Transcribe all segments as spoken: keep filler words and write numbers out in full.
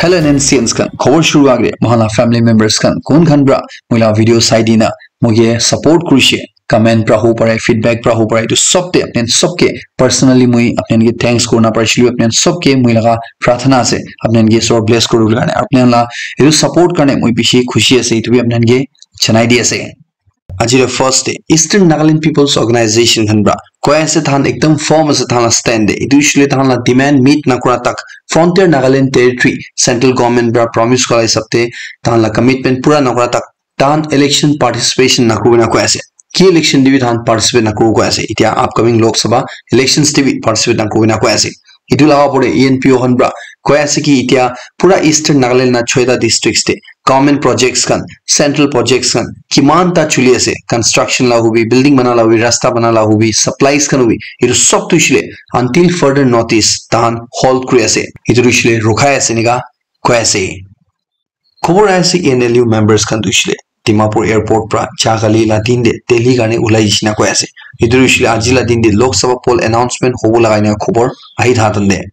Hello N N C Ns khan, khobor shuru agre moikhan la family members khan kun khan pra moi la video sai dina moike support kurishe, comment pra ho pare, feedback pra ho pare, etu sob te apni khan sob ke personally moi apni khan ke thanks kurna parishe, apni khan sob ke moi laga prarthana ase apni khan ke isor bless kuribo karne, apni khan la etu support karne moi bishi khushi ase, etu bi apni khan ke janai di ase. Aji la first day, Eastern Nagaland People's Organization khan pra koi ase tahan ekdam firm ase tahan la stand te. Etu hoishe le tahan la demand meet nakura tak Frontier Nagaland Territory Central Government pra promise kura hisab te tahan la commitment pura nakura tak tahan election participation nakuru na koi ase. Ki election te bi tahan participate nakuru koi ase. Etia upcoming Lok Sabha elections te bi participate nakuru na koi ase. Etu laga opor te E N P O khan pra koi ase ki etia pura Eastern Nagaland na choita districts te government projects khan, central projects khan kiman ta chuli ase, construction la hobi, building bana la hobi, rasta bana la hobi, supplies khan hobi, etu sob tu hoishe le until further notice tahan hold kuri ase, etu tu hoishe le rukhai ase enika koi ase. Khobor ahi ase E N L U members khan tu hoishe le Dimapur airport pra ja kali la din te Delhi karne ulai jishe na koi ase. Etu tu hoishe le aji la din te Lok Sabha poll announcement hobo laga enika khobor ahi tha tan te.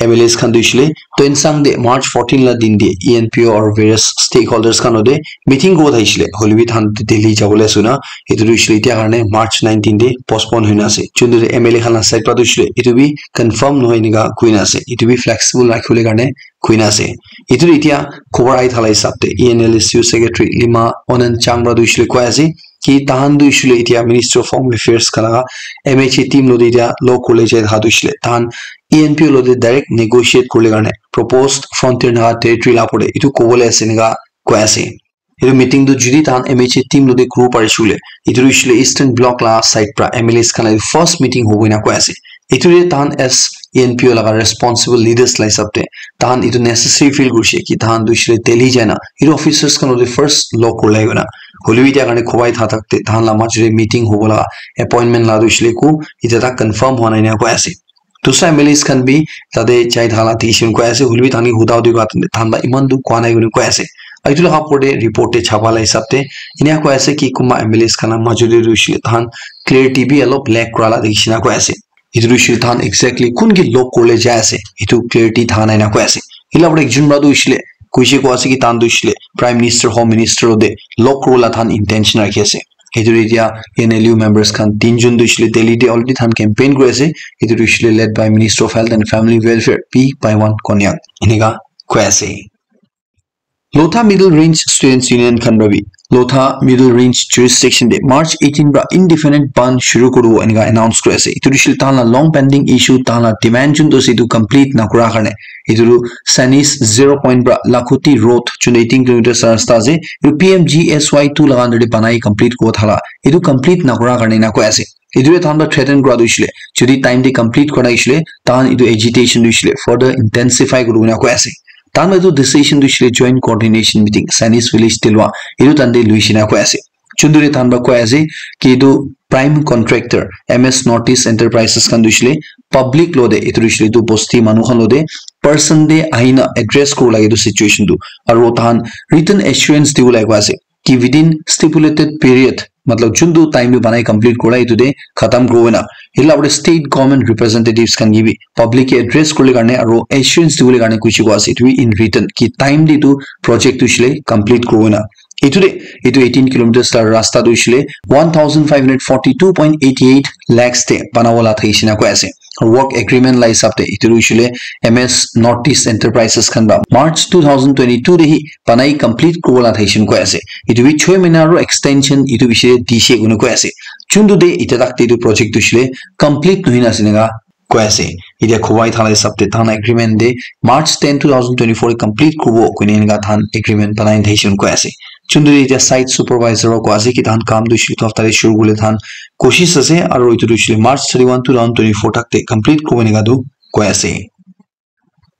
M L As khan tu hoishe le Tuensang te March fourteen la din te E N P O aru various stakeholders khan logote meeting kuribo thakishi le, hoile bi tahan Delhi jabo le ase na, etu tu hoishe le etia karne March nineteen te postpone hoina ase. Chunduri M L A khan la side pra tu hoishe le etu bi confirm nohoi enika koina ase, etu bi flexible rakhibole karne koina ase. Etu tu etia khobor ahi thala hisab te E N L S U secretary Lima Onan Chang pra tu hoishe le koi ase ki tahan tu hoishe le etia Ministry of Home Affairs khan laga M H A team logote etia log kuribole jai thakia tu hoishe le tahan E N P O logote direct negotiate kuribole karne proposed Frontier Naga Territory la opor te etu kobole ase enika koi ase. Etu meeting tu jodi tahan M H A team logote kuribo parishe le, etu tu hoishe le Eastern Bloc la side pra M L As khan la first meeting hobo enika koi ase. Etu te tahan as E N P O laga responsible leaders la hisab te tahan etu necessary feel kurishe ki tahan tu hoishe le Delhi jai na etu officers khan logote first log kuribole hoina, hoile bi etia karne khobor ahi tha tak te tahan la majo te meeting hobo laga appointment la tu hoishe le eku etia tak confirm hua nai enika koi ase. Dusra M L As khan bi tate jai thaka la dikhi koi ase, hoile bi tahan ke huda hudi kura tahan para eman tu koa nai koi ase. Aru etu laga opor te report te chapa la hisab te enika koi ase ki kunba M L As khan la majo te tu hoishe le tahan clarity bi olop lack kura la dikhi kena koi ase. Etu tu hoishe le tahan exactly kun ke log kuribole jai ase, etu clarity tha nai na koi ase. Etu la opor te ekjon para tu hoishe le koishe koi ase ki tahan tu hoishe le Prime Minister, Home Minister logote log kuribole tahan intention rakhi ase. Etu tu etia E N L U members khan tinjon tu hoishe le Delhi te already tahan campaign kuri ase. Etu tu hoishe le led by Minister of Health and Family Welfare P Paiwan Konyak enika koi ase. Lotha Middle Range Students Union khan para bi Lotha Middle Range jurisdiction te March eighteen para indefinite bandh shuru kuribo enika announce kuri ase. Etu tu hoishe le tahan la long pending issue, tahan la demand jun tu ase etu complete nakura karne, etu tu Sanis zero point para Lakhoti Road jun eighteen kilometers rasta ase, etu P M G S Y two laga under te banai complete kuribo thala, etu complete nakura karne ena koi ase. Etu tu tahan para threaten kura tu hoishe le jodi time te complete kura nai hoishe le tahan etu agitation tu hoishe le further intensify kuribo ena koi ase. Tahan etu decision tu hoishe le joint coordination meeting Sanis village te lua, etu tahan te luishe na koi ase. Chunduri tahan para koi ase ki etu prime contractor M S Northeast Enterprises khan tu hoishe le public logote, etu tu hoishe le etu bosti manu khan logote person te ahina address kuribo lage etu situation tu, aru tahan written assurance dibo lage koi ase ki within stipulated period, matlab jun tu time tu banai complete kura etu te khatam kuribo na, etu la opor te state government representatives khan ke bi public ke address kuribole karne aru assurance dibole karne koishe koi ase, etu bi in written ki time te etu project tu hoishe le complete kuribo na. Etu te etu eighteen kilometers la rasta tu hoishe le one thousand five hundred forty two point eighty eight lakhs te banabo la thakishe na koi ase. Work agreement la hisab te etu tu hoishe le M S Northeast Enterprises khan para March two thousand twenty two te hi banai complete kuribo la thakishe koi ase. Etu bi choi mahina aru extension etu bishi te dishe koina koi ase. Chuntu te etia tak te etu project tu hoishe le complete nohoi na ase enika koi ase. Etia khobor ahi thala hisab te tahan agreement te March ten, two thousand twenty-four te complete kuribo koina enika tahan agreement banai thakishe koi ase. Chuntu te etia site supervisor para koi ase ki tahan kam tu hoishe le etu hafta te shuru kuribole tahan koshish ase aru etu tu hoishe le March thirty-one, two thousand twenty-four tak te complete kuribo enika tu koi ase.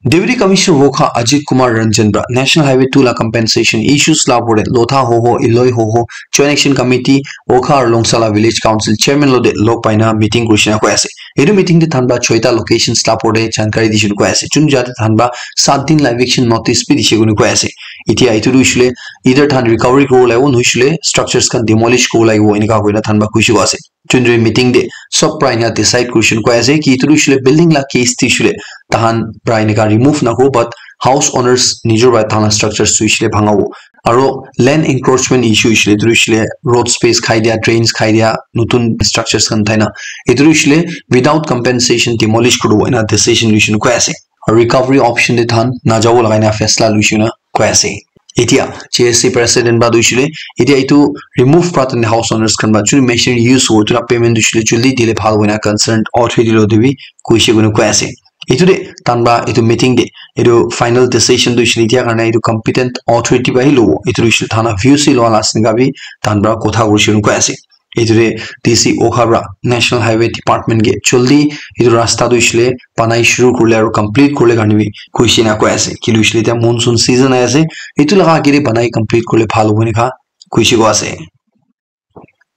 Deputy Commissioner Wokha Ajit Kumar Ranjan para National Highway two la compensation issues la opor te Lotha Hoho, Iloi Hoho, Joint Action Committee, Wokha aru Longsala Village Council Chairman logote log paina meeting kurishe na koi ase. Etu meeting te tahan para choita locations la opor te jankari dishe koi ase. Jun jate tahan para sat din la eviction notice bi dishe koina koi ase. Etia etu tu hoishe le either tahan recovery kuribo lagibo, nohoishe le structures khan demolish kuribo lagibo, enika koina tahan para koishe koi ase. Chunduri meeting te sob para enika decide kurishe koi ase ki etu tu hoishe le building la case tu hoishe le tahan para enika remove nakuribo, but house owners nijor para tahan la structures tu hoishe le bhangabo. Aro land encroachment issue hoishe le, etu hoishe le road space khai dia, drains khai dia, notun structures khan uthai na, etu hoishe le without compensation demolish kuribo ena decision loishe koina koi ase. Aro recovery option te tahan najabo lagai na faisla loishe koina koi ase. Etia J S C president para tu hoishe le, etia etu remove para tane house owners khan para jun machinery use hobo, etu la payment tu hoishe le jaldi dile bhal hobo ena concerned authority lo te bi koishe koina koi ase. Etu te tahan para etu meeting te etu final decision tu hoishe le etia karne etu competent authority para hi lobo. Etu tu hoishe le tahan la views hi loa la ase enika bi tahan para kotha kurishe koina koi ase. Etu te D C Okha para National Highway Department ke jaldi etu rasta tu hoishe le banai shuru kurile aro complete kurile karne bi koishe na koi ase. Kile hoishe le etia monsoon season ahi ase. Etu laga age te banai complete kurile bhal hobo enika koishe koi ase.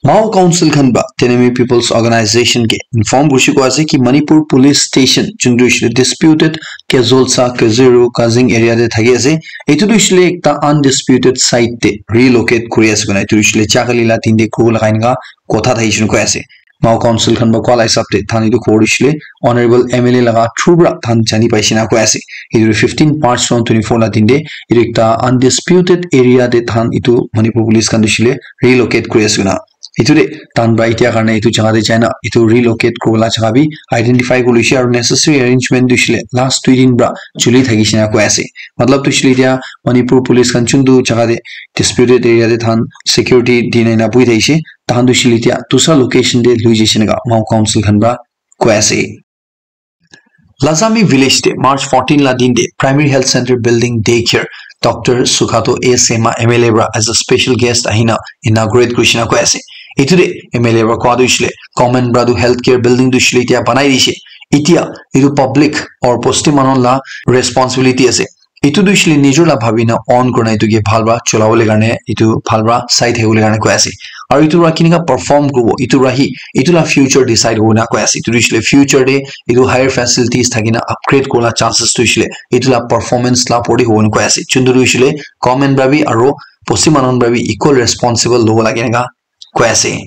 Mao Council khan para Tenami People's Organization ke inform kurishe koi ase ki Manipur Police Station, juntu hoishe le disputed Kezolsa, Kezeru, Kazing area te thaki ase. Etu tu hoishe le ekta undisputed site te relocate kuri ase koina. Etu hoishe le Chakali la din te kuro lagai enika kotha thakishe koina koi ase. Mao Council khan para koa la hisab te tahan etu khobor hoishe le Honorable M L A laga through para tahan jani paishe koina koi ase. Etu fifteen March twenty twenty-four la din te etu ekta undisputed area te tahan etu Manipur Police khan tu hoishe le relocate kuri ase koina. Etu te tahan para etia karne etu jaga te jai na etu relocate kuribo la jaga bi identify kuri loishe aro necessary arrangement tu hoishe le last dui din para chuli thakishe koina koi ase. Matlab tu hoishe le etia Manipur Police khan juntu jaga te disputed area te tahan security di na ena buhi thakishe, tahan tu hoishe le etia dusra location te lui jaishe enika Mao Council khan para koi ase. Lazami village te March fourteen la din te Primary Health Center Building Daycare Doctor Sukhato A Sema M L A para as a special guest ahina inaugurate kurishe koina koi ase. Etu te M L A para koa tu hoishe le government para tu healthcare building tu hoishe le etia banai dishe. Etia etu public or bosti manu la responsibility ase. Etu tu hoishe le nijor la bhabi na own kurina etu ke bhal para cholabole karne, etu bhal para sai thakibole karne koi ase. Aro etu para kenika perform kuribo, etu para hi, etu la future decide hobo na koi ase. Etu tu hoishe le future te etu higher facilities thaki na upgrade kuribo la chances tu hoishe le etu la performance la opor te hobo na koi ase. Juntu tu hoishe le government para bi aro bosti manu para bi equal responsible lobo lage enika koi ase.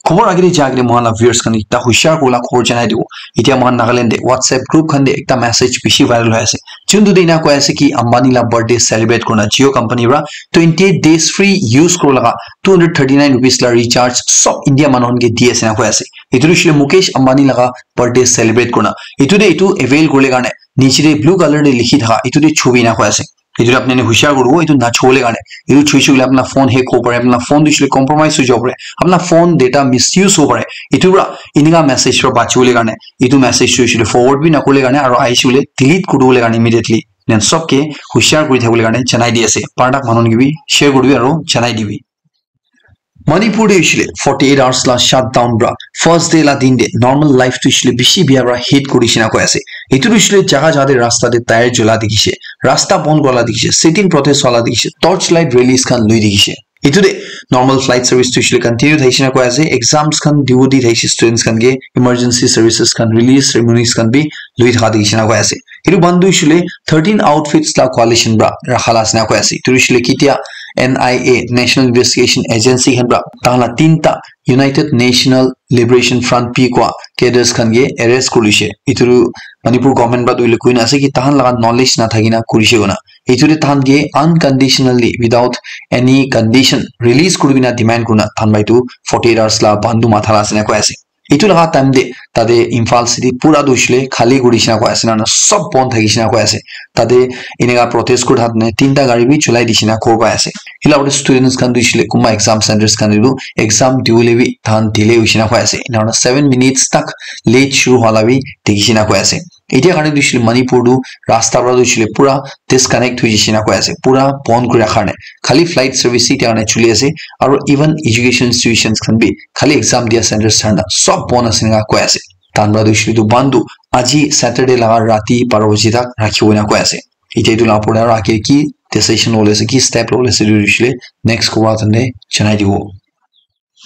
Khobor age te ja age te moikhan la viewers khan ekta hushar kurila khobor janai dibo. Etia moikhan Nagaland te WhatsApp group khan te ekta message bishi viral hoi ase. Juntu te ena koi ase ki Ambani la birthday celebrate kurina Jio company para twenty eight days free use kuri laga two hundred thirty nine rupees la recharge sob India manu khan ke di ase na koi ase. Etu tu hoishe le Mukesh Ambani laga birthday celebrate kurina. Etu te etu avail kuribole karne niche te blue color te likhi thaka etu te chubi na koi ase. Etu te apni khan hushar kuribo, etu nachobole karne. Etu chuishe koile apni la phone hack hobo pare, apni la phone tu hoishe koile compromise hoi jabo pare, apni la phone data misuse hobo pare. Etu para enika message para bachibole karne, etu message tu hoishe koile forward bi nakurile karne, aro ahishe koile delete kuribole karne immediately. Then sob ke hushar kuri thakibole karne janai di ase. Paradak manu khan ke bi share kuribi aro janai dibi. Manipur te hoishe le forty eight hours la shutdown para first day la din te normal life tu hoishe le bishi bia para hit kurishe na koi ase. Etu tu hoishe le jaga jaga te rasta te tyre jola dikhishe, rasta bon kura la dikhishe, sit-in protest wala dikhishe, torch light rallies khan lui dikhishe. Etu te normal flight service tu hoishe le continue thakishe na koi ase, exams khan dibo di thakishe students khan ke, emergency services khan, relief ceremonies khan bi lui thaka dikhishe na koi ase. Etu bandu hoishe le thirteen outfits la coalition para rakha la ase na koi ase. Etu hoishe le ketia N I A, National Investigation Agency khan para tahan la tinta United National Liberation Front P koa cadres khan ke arrest kurishe. Etu tu Manipur government para tu hoile koina ase ki tahan laga knowledge na thaki na kurishe koina. Etu te tahan ke unconditionally without any condition release kuribi na demand kurina tahan para etu forty eight hours la bandu matha la ase na koi ase. Etu laga time te tate Imphal city pura tu hoishe le khali kuri dishina koi ase na, na sob bon thaki dishina koi ase. Tate eneka protest kuri thaka tinta gari bi cholai dishina koi pai ase. Hila aru students khan tu hoishe le kunba exam centers khan te tu exam dibole bi tahan delay hoishe na koi ase. Ena hoina seven minutes tak late shuru hwala bi dikhi dishina koi ase. Etia karne tu hoishe le Manipur tu rasta para tu hoishe le pura disconnect hoi jaise na koi ase, pura bon kuri rakha karne. Khali flight service hi etia karne chuli ase, aru even education institutions khan bi khali exam dia centers khan na sob bon ase eneka koi ase. Tahan para tu hoishe le tu bandu aji Saturday laga rati baro baji tak rakhibo ena koi ase. Etia etu la opor te aru age ki decision lobole ase, ki step lobole ase, etu hoishe le next kowa khan te janai dibo.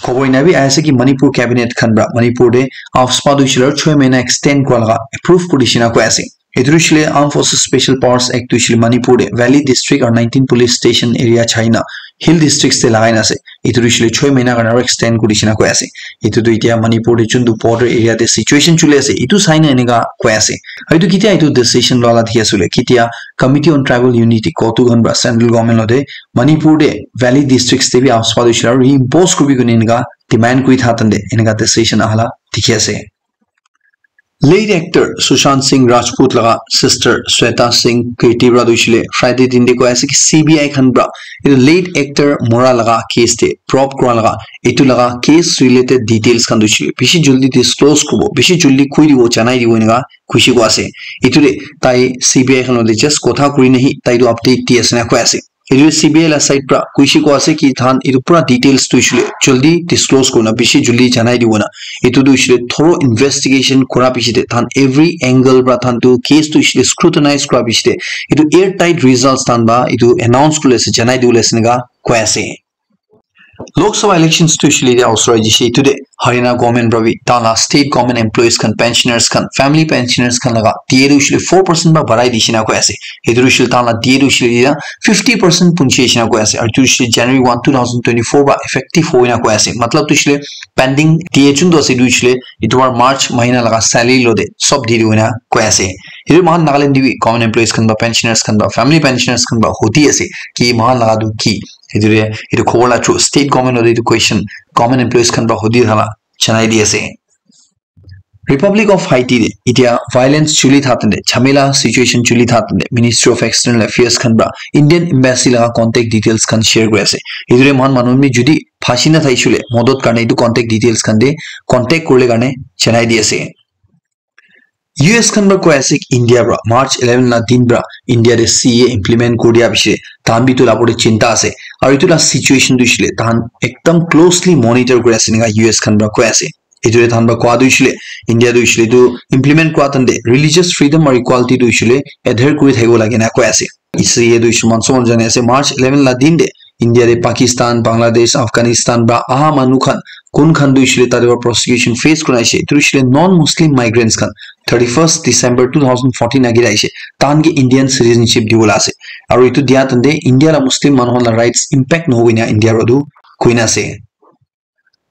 Khobor ena bi ahi ase ki Manipur cabinet khan para Manipur te AFSPA tu hoishe le aru choi mahina extend kura laga approve kuri dishina koi ase. Etu hoishe le Armed Forces Special Powers Act tu hoishe le Manipur te Valley District aru nineteen police station area chai na hill districts te lagai na ase. Etu tu hoishe le choi mahina karne aro extend kuri dishina koi ase. Etu tu etia Manipur te juntu border area te situation chuli ase, etu sai na enika koi ase. Aru etu ketia etu decision loa la dikhi ase koile, ketia Committee on Tribal Unity, COTU khan pra central government logote Manipur te valley districts te bi AFSPA tu hoishe le reimpose kuribi koina enika demand kuri tha tante enika decision aha la dikhi ase. Late actor Sushant Singh Rajput laga sister Shweta Singh Khetti pra tu hoishe le Friday din te koi ase ki C B I khan pra etu late actor mora laga case te probe kura laga, etu laga case related details khan tu hoishe le bishi jaldi disclose kuribo, bishi jaldi koi dibo, janai dibo enika kuishe koi ase. Etu te tai C B I khan logote just kotha kuri na hi tai tu update di ase na koi ase. Etu C B I la side pra kuishe koi ase ki tahan etu pura details tu hoishe le jaldi disclose kurina, bishi jaldi janai dibo na. Etu tu hoishe le thorough investigation kura piche te, tahan every angle pra tahan tu case tu hoishe le scrutinize kura piche te, etu airtight results tahan ba etu announce kuri ase, janai dibo le ase enika koi ase. Lok Sabha elections tu hoishe le etia osor ahi jai se, etu te Haryana government pra bi tahan la state government employees khan, pensioners khan, family pensioners khan laga D A tu hoishe le four percent pra barai dishina koi ase. Etu tu hoishe le tahan la D A tu hoishe le etia fifty percent punchi dishina koi ase. Aru etu hoishe le January one, two thousand twenty-four pra effective hoina koi ase. Matlab tu hoishe le pending D A juntu ase etu hoishe le etu pra March mahina laga salary logote sob di dibo enika koi ase. Etu moikhan Nagaland te bi government employees khan pra, pensioners khan pra, family pensioners khan pra hudi ase ki moikhan laga tu ki. Etu te etu khobor la through state government logote etu question government employees khan pra hudi thala janai di ase. Republic of Haiti te etia violence chuli tha tante, jhamela situation chuli tha tante, Ministry of External Affairs khan pra Indian Embassy laga contact details khan share kuri ase. Etu te moikhan manu khan bi jodi phasi na thakishe le modot karne etu contact details khan te contact kurile karne janai di ase. U S khan pra koi ase ki India pra March eleven la din pra India te C A A implement kuri dia piche tahan bi etu la opor te chinta ase. Aru etu la situation tu hoishe le tahan ekdam closely monitor kuri ase enika U S khan pra koi ase. Etu te tahan pra koa tu hoishe le India tu hoishe le etu implement kura tante religious freedom aru equality tu hoishe le adhere kuri thakibo lage na koi ase. C A A tu hoishe le moikhan sob jane ase March eleven la din te India te Pakistan, Bangladesh, Afghanistan pra aha manu khan kun khan tu hoishe le tate pra prosecution face kurina aise. Etu hoishe le non-Muslim migrants khan thirty-first December two thousand fourteen agey te aise. Tahan ke Indian citizenship dibo la ase. Aru etu dia tante India la Muslim manu khan la rights impact nohobo ena India pra tu koina ase.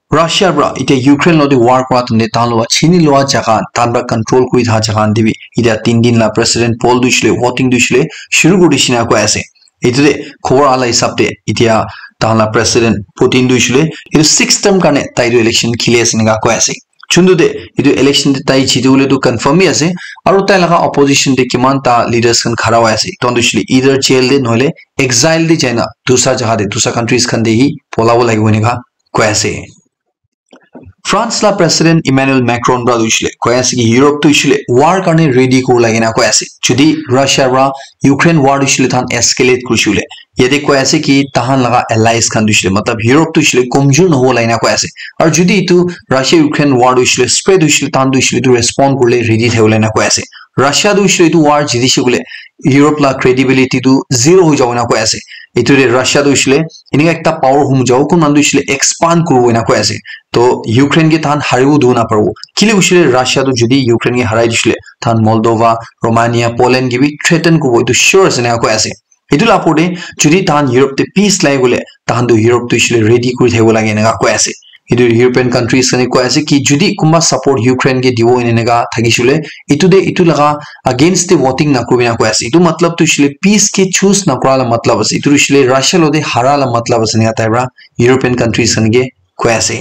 Russia pra etia Ukraine logote war kura tante tahan logote chini loa jaga, tahan pra control kuri tha jaga khan te bi etia tin din la president poll tu hoishe le voting tu hoishe le shuru kuri dishina koi ase. Etu te khobor aha la hisab te etia tahan la president Putin tu hoishe le etu sixth term karne tai tu election kheli ase enika koi ase. Juntu te etu election te tai jiti bole tu confirm hi ase. Aru tai laga opposition te kiman ta leaders khan khara hoi ase. Etu khan tu hoishe le either jail te nohole exile te jaina dusra jaga te, dusra countries khan te hi polabo lagibo enika koi ase. France la president Emmanuel Macron pra tu hoishe le koi ase ki Europe tu hoishe le war karne ready kuribo lage na koi ase. Jodi Russia pra Ukraine war tu hoishe le tahan escalate kurishe le, yate koi ase ki tahan laga allies khan tu hoishe le, matlab Europe tu hoishe le komjor nohobo lage na koi ase. Aru jodi etu Russia Ukraine war tu hoishe le spread hoishe le, tahan tu hoishe le etu respond kurile ready thakibo lage na koi ase. Russia tu hoishe le etu war jitishe koile Europe la credibility tu zero hoi jabo na koi ase. Etu te Russia tu hoishe le enika ekta power hum jabo, kun khan tu hoishe le expand kuribo ena koi ase. To Ukraine ke tahan haribo dibo na paribo. Kile hoishe le Russia tu jodi Ukraine ke harai dishe le, tahan Moldova, Romania, Poland ke bi threaten kuribo, etu sure ase ena koi ase. Etu la opor te jodi tahan Europe te peace lage koile, tahan tu Europe tu hoishe le ready kuri thakibo lage ena koi ase. Etu European countries khan ke koi ase ki jodi kunba support Ukraine ke dibo ena eneka thakishe le, etu te etu laga against te voting nakuribo ena koi ase. Etu matlab tu hoishe le peace ke choose nakura la matlab ase. Etu hoishe le Russia logote hara la matlab ase ena tai pra European countries khan ke koi ase.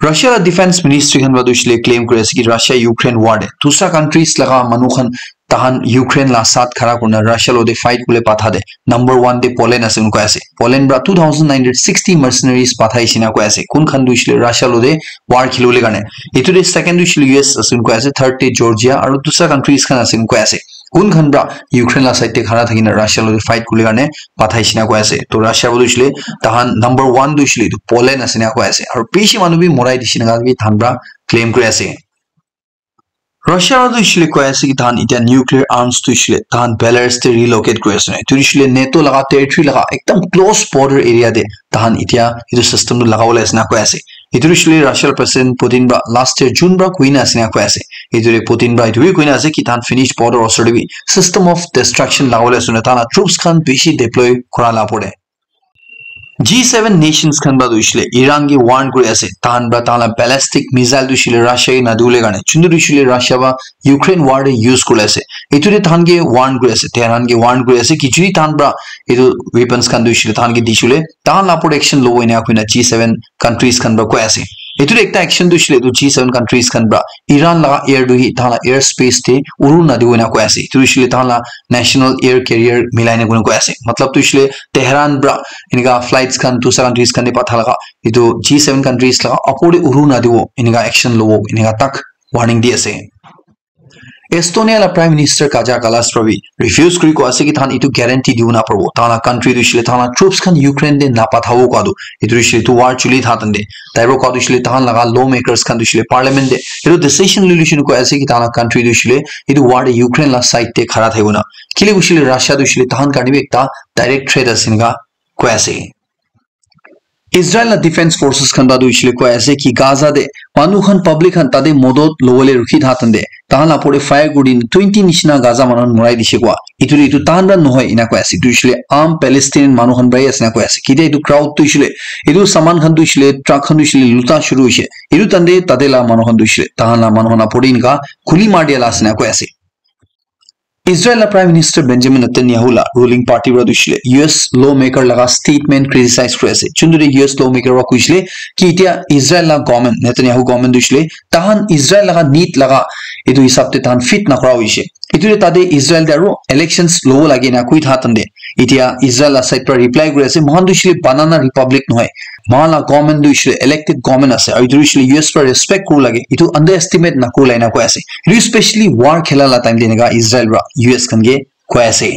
Russia la defense ministry khan pra tu hoishe le claim kuri ase ki Russia Ukraine war te dusra countries laga manu khan tahan Ukraine la saath khara kurina Russia logote fight kuribole patha te number one te Poland ase koi ase. Poland pra two thousand nine hundred sixty mercenaries pathai shina koi ase. Kun khan tu hoishe le Russia logote war khilibole karne. Etu te second tu hoishe le U S ase koi ase, third te Georgia aru dusra countries khan ase koi ase. Kun khan pra Ukraine la side te khara thakina Russia logote fight kuribole karne pathai shina koi ase. To Russia pra tu hoishe le tahan number one tu hoishe le etu Poland ase na koi ase. Aru bishi manu bi morai dishe na bi tahan pra claim kuri ase. Russia pra tu hoishe le koi ase ki tahan etia nuclear arms tu hoishe le tahan Belarus te relocate kuri ase. Etu hoishe le NATO laga territory laga ekdam close border area te tahan etia etu system tu lagabole ase na koi ase. Etu hoishe le Russia la president Putin pra last year June pra koina ase na koi ase. Etu te Putin pra etu bi koina ase ki tahan Finnish border osor te bi system of destruction lagabole ase na, tahan la troops khan bishi deploy kura la opor te. G seven nations khan pra tu hoishe le Iran ke warn kuri ase, tahan pra tahan la ballistic missile tu hoishe le Russia ke nadiwole karne, chuntu tu hoishe le Russia pra Ukraine war te use kuri ase. Etu te tahan ke warn kuri ase, Tehran ke warn kuri ase ki jodi tahan pra etu weapons khan tu hoishe le tahan ke dishe le, tahan la opor te action lobo ena koina G seven countries khan pra koi ase. Etu te ekta action tu hoishe le etu G seven countries khan pra Iran laga air tu hi tahan la air space te uru nadibo ena koi ase. Etu hoishe le tahan la national air carrier milai na koi ase. Matlab tu hoishe le Tehran pra enika flights khan dusra countries khan te patha laga etu G seven countries laga opor te uru nadibo, enika action lobo, enika tak warning di ase. Estonia la Prime Minister Kaja Kallas pra bi refuse kuri koi ase ki tahan etu guarantee dibo naparibo. Tahan la country tu hoishe le tahan la troops khan Ukraine te napathabo koi tu. Etu hoishe le etu war chuli tha tante. Tai pra koi tu hoishe le tahan laga lawmakers khan tu hoishe le parliament te etu decision lui luishe koi ase ki tahan la country tu hoishe le etu war te Ukraine la side te khara thakibo na. Kile hoishe le Russia tu hoishe le tahan karne bi ekta direct threat ase enika koi ase. Israel la defense forces khan pra tu hoishe le koi ase ki Gaza te manu khan, public khan tate modot lobole rukhi tha tante tahan la opor te fire kuri din twenty nishina Gaza manu khan morai dishe koi. Etu le etu tahan pra nohoi ena koi ase. Etu hoishe le aam Palestinian manu khan pra hi ase ena koi ase. Kitia etu crowd tu hoishe le etu saman khan tu hoishe le truck khan tu hoishe le luta shuru hoishe. Etu tante tate la manu khan tu hoishe le tahan la manu khan opor te enika guli mar dia la ase ena koi ase. Israel la Prime Minister Benjamin Netanyahu la ruling party pra tu hoishe le U S lawmaker laga statement criticize kuri ase. Chuntu te U S lawmaker pra koishe le ki etia Israel la government, Netanyahu government tu hoishe le tahan Israel laga need laga etu hisab te tahan fit nakura hoishe. Etu te tate Israel te aro elections lobo lage na koi tha tante etia Israel la side pra reply kuri ase, moikhan tu hoishe le banana republic nohoi. Moikhan la government tu hoishe le elected government ase. Aru etu hoishe le U S pra respect kuri bo lage. Etu underestimate nakuri bo lage ena koi ase. Etu especially war khela la time te enika Israel pra U S khan ke koi ase.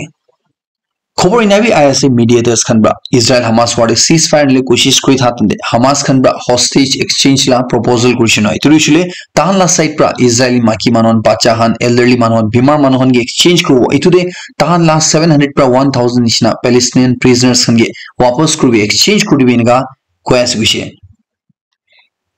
Khobor ena bi ahi ase mediators khan pra Israel Hamas war te ceasefire le koshish kuri tha tante Hamas khan pra hostage exchange la proposal kurishe na. Etu hoishe le tahan la side pra Israeli maiki manu khan, bacha khan, elderly manu khan, bimar manu khan ke exchange kuribo. Etu te tahan la seven hundred pra one thousand nishina Palestinian prisoners khan ke wapas kuribi, exchange kuribi enika koi ase hoishe.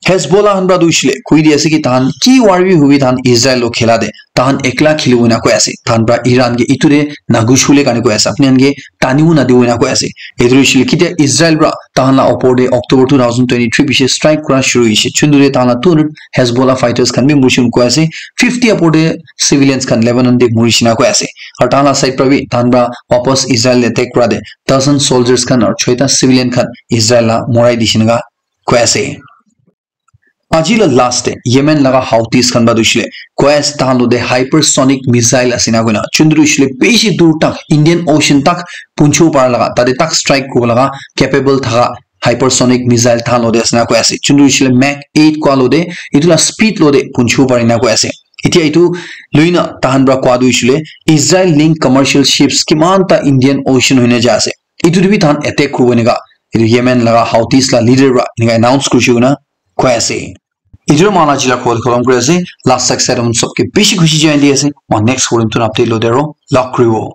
Hezbollah khan pra tu hoishe le koi di ase ki tahan ki war bi hobi tahan Israel lo khela te tahan ekla khelibo ena koi ase. Tahan pra Iran ke etu te nagushibole karne koi ase. Apni khan ke tanibo nadibo ena koi ase. Etu hoishe le kitia Israel pra tahan la opor te October two thousand twenty-three piche strike kura shuru hoishe. Chuntu te tahan la two hundred Hezbollah fighters khan bi morishe koi ase. Fifty opor te civilians khan Lebanon te morishe na koi ase. Aru tahan la side pra bi tahan pra wapas Israel attack kura te dozen soldiers khan aru choita civilian khan Israel la morai dishe enika koi ase. Aji la last te Yemen laga Houthis khan pra tu hoishe le koi ase tahan lo te hypersonic missile ase ena koina. Chuntu tu hoishe le bishi dur tak Indian Ocean tak punchibo para laga, tate tak strike kuribo laga capable thaka hypersonic missile tahan lo te ase ena koi ase. Chuntu tu hoishe le Mach eight koi lo te etu la speed lo te punchibo pare ena koi ase. Etia etu lui na tahan pra koi tu hoishe le Israel link commercial ships kiman ta Indian Ocean hoina jai ase. Etu te bi tahan attack kuribo enika etu Yemen laga Houthis la leader pra enika announce kurishe koina koi ase. Etu moikhan la aji la khobor khotom kuri ase. Last tak side on sob ke bishi khushi janai di ase. Moikhan next khobor notun update lo te aro log kuribo.